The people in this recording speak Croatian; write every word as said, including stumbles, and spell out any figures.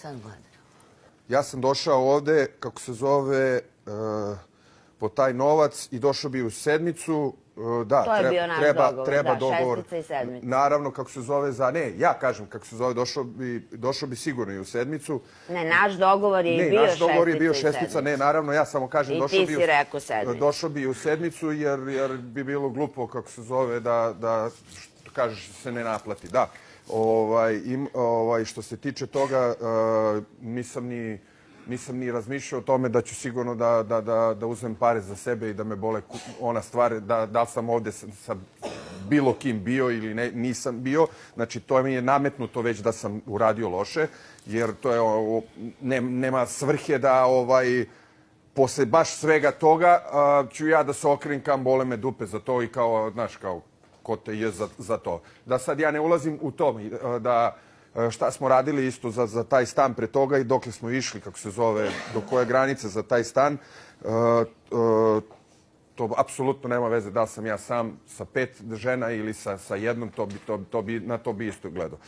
sad gledaju? Ja sam došao ovde, kako se zove, po taj novac i došao bi u sedmicu. Da, to je bio naš treba, dogovor, treba da, dogovor. šestica i sedmica. Naravno, kako se zove za... Ne, ja kažem kako se zove, došao bi, došao bi sigurno i u sedmicu. Ne, naš dogovor je i bio šestica i sedmica. Ne, naš dogovor je bio šestica, ne, naravno, ja samo kažem... I došao ti bi si rekao sedmicu. Došao bi u sedmicu jer, jer bi bilo glupo, kako se zove, da, da što kažeš, se ne naplati. Da, ovaj, im, ovaj, što se tiče toga, uh, nisam ni... Nisam ni razmišljao o tome da ću sigurno da, da, da, da uzmem pare za sebe i da me bole ona stvar, da, da li sam ovde sa, sa bilo kim bio ili ne, nisam bio. Znači, to mi je nametnuto već da sam uradio loše, jer to je, o, ne, nema svrhe da ovaj, posle baš svega toga a, ću ja da se okrenkam, bole me dupe za to i kao, znaš, kao, ko te je za, za to. Da sad ja ne ulazim u to, da šta smo radili isto za, za taj stan pre toga i dokle smo išli, kako se zove, do koje granice za taj stan. Uh, uh, to apsolutno nema veze da li sam ja sam sa pet žena ili sa, sa jednom, to bi, to, to bi, na to bi isto gledao.